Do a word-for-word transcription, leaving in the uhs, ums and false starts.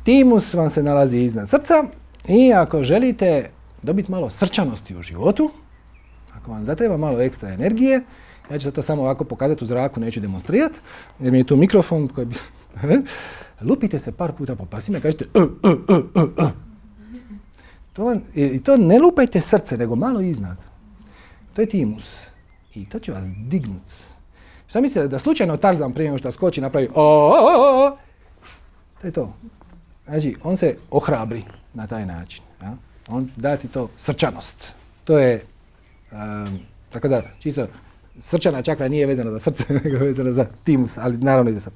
Timus vam se nalazi iznad srca i ako želite dobiti malo srčanosti u životu, ako vam zatreba malo ekstra energije, ja ću to samo ovako pokazati u zraku, neću demonstrirati, jer mi je tu mikrofon koji bi... Lupite se par puta po prsima i kažete uh, uh, uh, uh, uh. To, I to ne lupajte srce, nego malo iznad. To je timus. I to će vas dignut. Šta mislite da slučajno Tarzan prije nego što skoči napravi o, o, o, o. To je to. Znači, on se ohrabri na taj način. Ja? On da ti to srčanost. To je, um, tako da, čisto, srčana čakra nije vezana za srce, nego vezana za timus, ali naravno i za srce.